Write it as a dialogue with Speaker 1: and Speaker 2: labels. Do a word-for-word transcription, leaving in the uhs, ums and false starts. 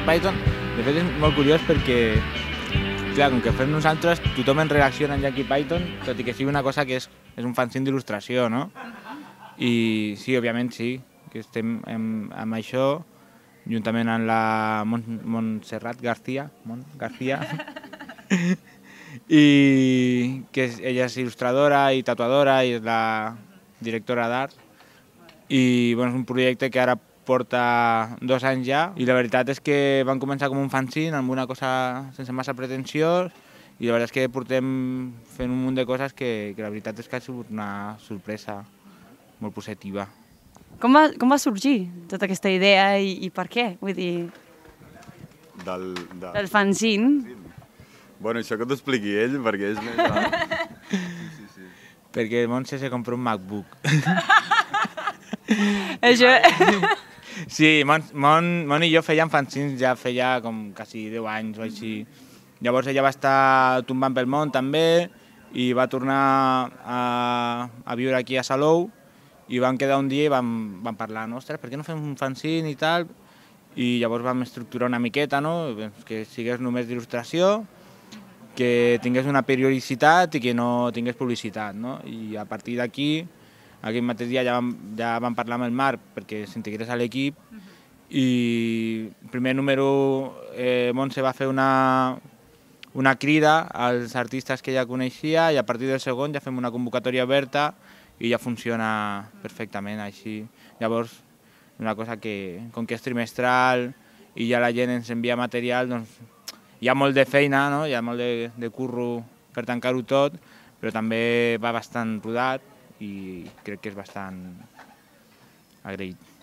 Speaker 1: Python, de fet és molt curiós perquè, clar, com que fem nosaltres, tothom en reacciona en Jackie Python, tot i que sigui una cosa que és, és un fanzine d'il·lustració, no? I sí, òbviament sí, que estem amb, amb això, juntament amb la Mon Montserrat García, Mon García, i que és, ella és il·lustradora i tatuadora i és la directora d'art. I bueno, és un projecte que ara porta dos anys ja i la veritat és que van començar com un fanzine amb una cosa sense massa pretensió i la veritat és que portem fent un munt de coses que, que la veritat és que ha sigut una sorpresa molt positiva.
Speaker 2: Com va, com va sorgir tota aquesta idea i, i per què? Vull dir,
Speaker 3: Del, de...
Speaker 2: del fanzine.
Speaker 3: Bueno, això que t'ho expliqui ell, perquè és més... Sí, sí, sí.
Speaker 1: Perquè el Montse se compró un MacBook.
Speaker 2: Això...
Speaker 1: Sí, Mon, Mon, Mon i jo fèiem fanzines ja feia com quasi deu anys o així. Llavors ella va estar tombant pel món també i va tornar a, a viure aquí a Salou i vam quedar un dia i vam, vam parlar, no? Ostres, per què no fem un fanzine i tal? I llavors vam estructurar una miqueta, no? Que sigués només d'il·lustració, que tingués una periodicitat i que no tingués publicitat, no? I a partir d'aquí, aquell mateix dia ja vam, ja vam parlar amb el Marc perquè s'integrés a l'equip i el primer número eh, Montse va fer una, una crida als artistes que ja coneixia i a partir del segon ja fem una convocatòria oberta i ja funciona perfectament així. Llavors, una cosa que, com que és trimestral i ja la gent ens envia material, doncs hi ha molt de feina, no? Hi ha molt de, de curro per tancar-ho tot, però també va bastant rodat i crec que és bastant agraït.